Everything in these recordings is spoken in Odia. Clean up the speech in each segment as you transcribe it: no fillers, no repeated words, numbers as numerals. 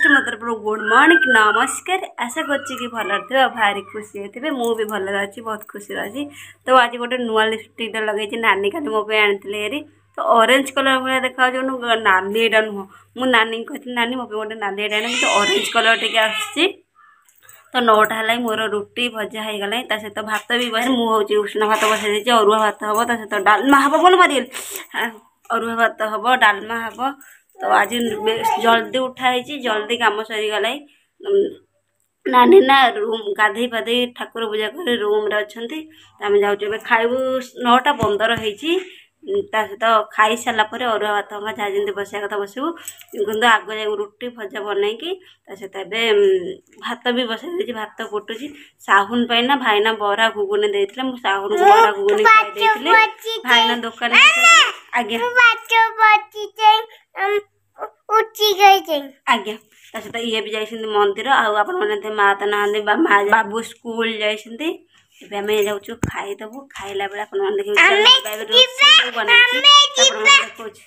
ଫାଷ୍ଟ ମୋ ତରଫରୁ ଗୁଡ଼୍ ମର୍ଣ୍ଣିଂ, ନମସ୍କାର। ଆଶା କରୁଛି କି ଭଲରେ ଥିବେ ଆଉ ଭାରି ଖୁସି ହେଇଥିବେ। ମୁଁ ବି ଭଲରେ ଅଛି, ବହୁତ ଖୁସିରେ ଅଛି। ତ ଆଜି ଗୋଟେ ନୂଆ ଲିପଷ୍ଟିକ୍ଟା ଲଗେଇଛି। ନାନୀ କାଲି ମୋ ପାଇଁ ଆଣିଥିଲେ ହେରି। ତ ଅରେଞ୍ଜ କଲର୍ ଭଳିଆ ଦେଖାଯାଉଛି, ନାଲି ଏଇଟା ନୁହଁ। ମୁଁ ନାନୀଙ୍କୁ କହିଥିଲି, ନାନୀ ମୋ ପାଇଁ ଗୋଟେ ନାଲି ଏଇଟା ଆଣ, କିନ୍ତୁ ଅରେଞ୍ଜ କଲର୍ ଟିକେ ଆସୁଛି। ତ 9ଟା ହେଲାଣି, ମୋର ରୁଟି ଭଜା ହେଇଗଲାଣି, ତା ସହିତ ଭାତ ବି ବସେ। ମୁଁ ହେଉଛି ଉଷୁନା ଭାତ ବସାଇ ଦେଇଛି, ଅରୁଆ ଭାତ ହେବ, ତା ସହିତ ଡାଲମା ହେବ। ଭଲ ମାରିଗଲି। ଅରୁଆ ଭାତ ହେବ, ଡାଲମା ହେବ। ତ ଆଜି ଜଲ୍ଦି ଉଠା ହେଇଛି, ଜଲ୍ଦି କାମ ସରିଗଲାଣି। ନାନୀ ନା ରୁମ୍ ଗାଧେଇ ପାଧେଇ ଠାକୁର ପୂଜା କରି ରୁମ୍ରେ ଅଛନ୍ତି। ତ ଆମେ ଯାଉଛୁ ଏବେ ଖାଇବୁ। 9ଟା 15 ହେଇଛି। ତା ସହିତ ଖାଇସାରିଲା ପରେ ଅରୁଆ ଭାତ ଯାହା ଯେମିତି ବସିବା କଥା ବସିବୁ, କିନ୍ତୁ ଆଗ ଯାଇ ରୁଟି ଭଜା ବନେଇକି, ତା ସହିତ ଏବେ ଭାତ ବି ବସାଇ ଦେଇଛି, ଭାତ ଫୁଟୁଛି। ସାହୁନ ପାଇଁ ନା ଭାଇନା ବରା ଘୁଗୁନି ଦେଇଥିଲେ, ମୁଁ ସାହୁନକୁ ବରା ଘୁଗୁନି ଖାଇ ଦେଇଥିଲି। ଭାଇନା ଦୋକାନ। ଆଜ୍ଞା ଆଜ୍ଞା। ତା ସହିତ ଇଏ ବି ଯାଇଛନ୍ତି ମନ୍ଦିର, ଆଉ ଆପଣମାନେ ମା ତ ନାହାନ୍ତି, ମା ବାବୁ ସ୍କୁଲ ଯାଇଛନ୍ତି। ଏବେ ଆମେ ଯାଉଛୁ ଖାଇଦେବୁ। ଖାଇଲା ବେଳେ ଆପଣମାନେ ଦେଖିବେ ରୋଷେଇ ବନେଇଛି, ଆପଣମାନେ ଦେଖାଉଛି।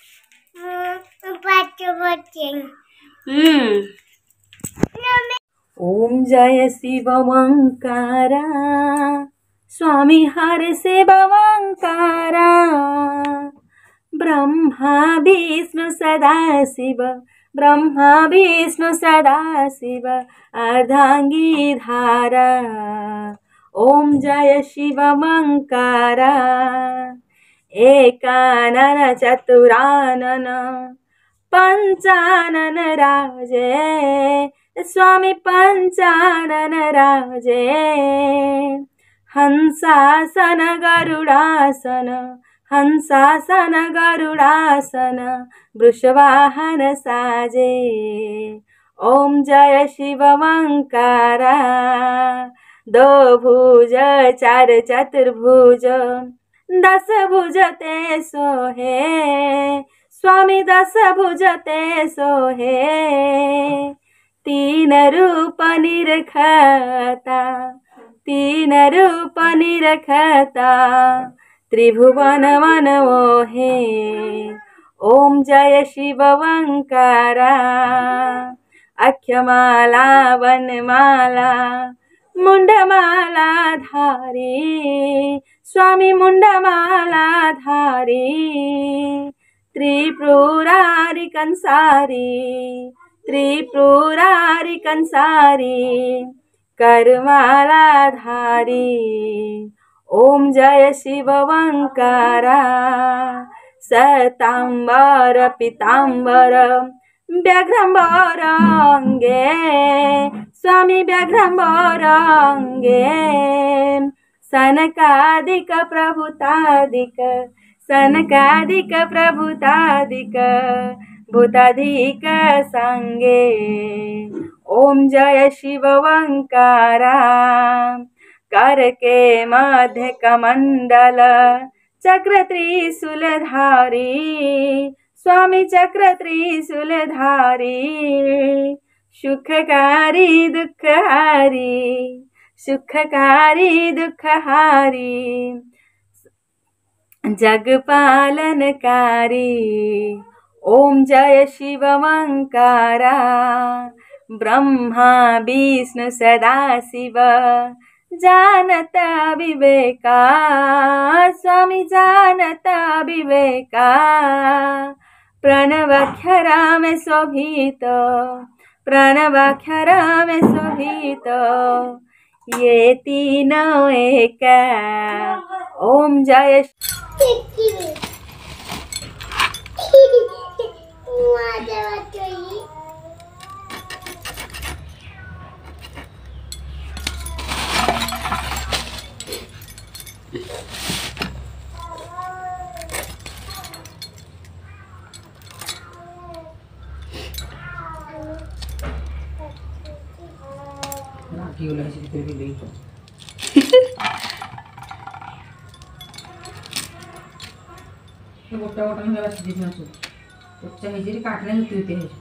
ओम जय शिव ओंकारा, स्वामी हर शिव ओंकारा। ब्रह्मा विष्णु सदा शिव, ब्रह्मा विष्णु सदा शिव अर्धांगी धारा। ओम जय शिव ओंकारा। एकानन चतुरानन पंचानन राजे, स्वामी पंचानन राजे। हंसासन गरुडासन, हंसासन गरुडासन वृषवाहन साजे। ओम जय शिव ओंकारा। दो भुज चार चतुर्भुज दस भुज ते सोहे, स्वामी दस भुज ते सोहे। तीन रूप निरखता, तीन रूप निरखता त्रिभुवन मन मोहे। ओम जय शिव ओंकारा। अक्षमाला वनमाला मुंडमाला धारी, स्वामी मुंडमाला धारी। त्रिपुरारी कंसारी, त्रिपुरारी कंसारी करमाला धारी। ओम जय शिव ओंकारा। सतांबर पीतांबर व्याघ्रंबर अंगे, स्वामी व्याघ्रंबर अंगे। सनकादिक प्रभुतादिक, सनकादिक प्रभुतादिक भूताधिक संगे। ओम जय शिव ओंकारा। कर के मध्य कमंडल चक्र त्रिशूलधारी, स्वामी चक्र त्रिशूलधारी। सुखकारी दुखहारी, सुखकारी दुखहारी जगपालनकारी। ओम जय शिव ओंकारा। ब्रह्मा विष्णु सदा शिव जानता विवेका, स्वामी जानता विवेका। प्रणवाक्षरा में शोभित, प्रणवाक्षरा में शोभित ये तीनों एक। ओम जय। ଲାଗିଗଲା ସେଥିରେ ବିଲେଇ। ଗୋଟା ଗୋଟା ହେଲା ସିଝି ମାଛ ପଚା ହେଇଛି, କାଟିଲେ ହେତୁ ହେଇଛି।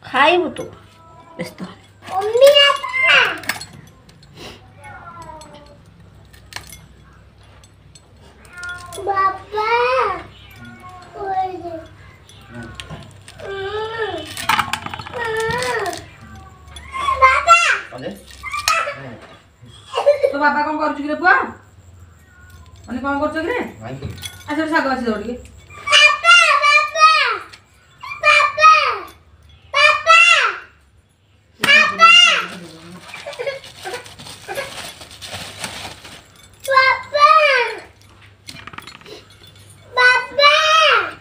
ଖାଇବୁ ତୁ, ବ୍ୟସ୍ତ। ତୋ ବାବା କଣ କରୁଛୁ କିରେ ପୁଅ? ମାନେ କଣ କରୁଛ କିରେ? ଆଚ୍ଛା, ଶାଗ ଅଛି, ଦବ ଟିକେ।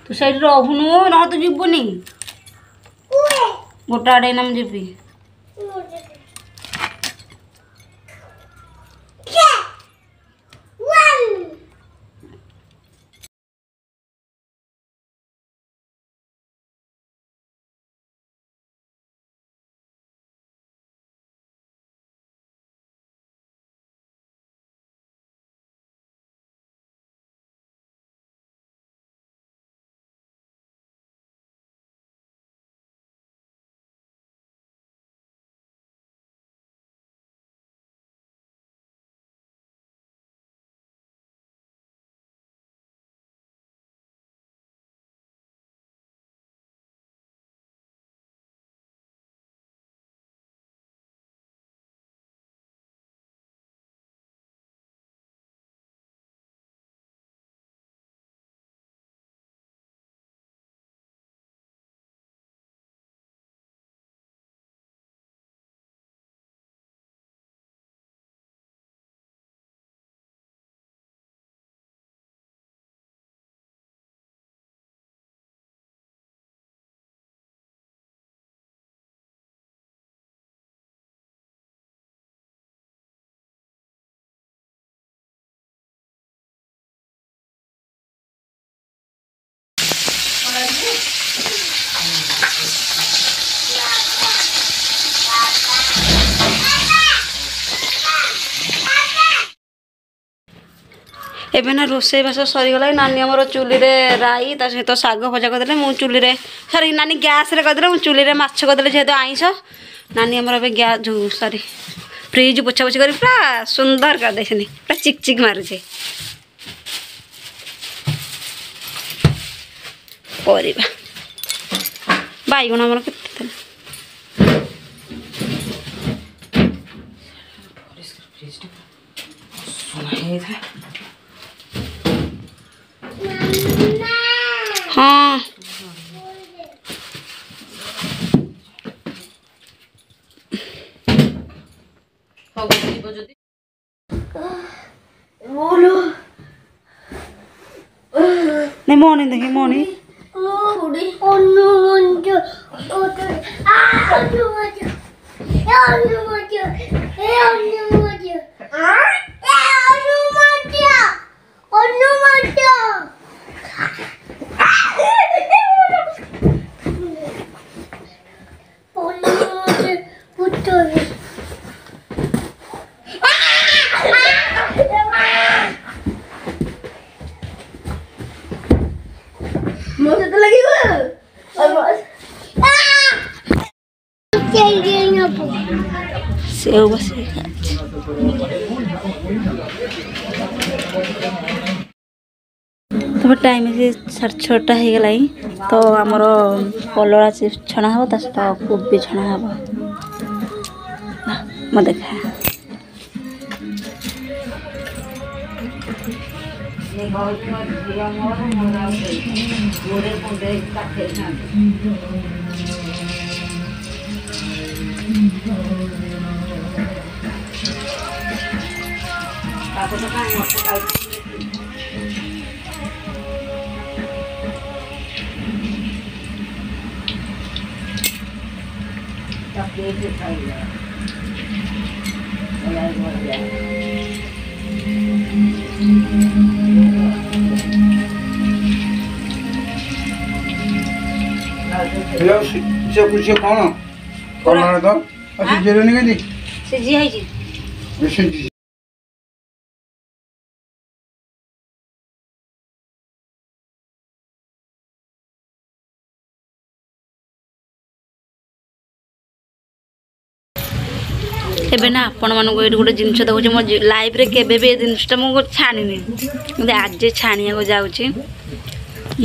ତୁ ସେଇଠି ରହୁନୁ, ନହେଲେ ତୁ ଯିବୁନି। ଗୋଟେ ଆଡ଼େ ଏଇନା ମୁଁ ଯିବି। ଏବେ ନା ରୋଷେଇବାସ ସରିଗଲା। ନାନୀ ଆମର ଚୁଲିରେ ରାଇ ତା ସହିତ ଶାଗ ଭଜା କରିଦେଲେ, ମୁଁ ଚୁଲିରେ, ସରି, ନାନୀ ଗ୍ୟାସ୍ରେ କରିଦେଲେ, ମୁଁ ଚୁଲିରେ ମାଛ କରିଦେଲେ, ଯେହେତୁ ଆଇଁଷ। ନାନୀ ଆମର ଏବେ ଗ୍ୟାସ୍ ଯେଉଁ, ସରି, ଫ୍ରିଜ୍ ପୋଛାପୋଛି କରି ପୁରା ସୁନ୍ଦର କରିଦେଇଛନ୍ତି, ପୁରା ଚିକ୍ ଚିକ୍ ମାରୁଛି। ପରିବା ବାଇଗଣ ଆମର କେତେ ଥିଲା? ହେଇଥିଲା। ହଁ, ହଉ, ଯିବ ଯଦି। ନାଇଁ, ମଣି ଦେଖି ମଣି। ସେଉ ବସିକି ଖାଉଛି। ତାପରେ ଟାଇମ୍ ଅଛି 6:30 ହେଇଗଲାଣି। ତ ଆମର କଲରା ଚିପ୍ସ ଛଣା ହେବ, ତା ସହିତ କୋବି ଛଣା ହେବ। ମୁଁ ଦେଖା। ସେ କ'ଣ କଲରା ତ ସିଝେଇଲୁନି କେମିତି? ସିଝି ହେଇଛି। ସିଝି ଏବେ ନା ଆପଣମାନଙ୍କୁ ଏଇଠି ଗୋଟେ ଜିନିଷ ଦେଖୁଛି, ମୋ ଲାଇଫ୍ରେ କେବେ ବି ଏ ଜିନିଷଟା ମୁଁ ଛାଣିନି, କିନ୍ତୁ ଆଜି ଛାଣିବାକୁ ଯାଉଛି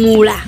ମୂଳା।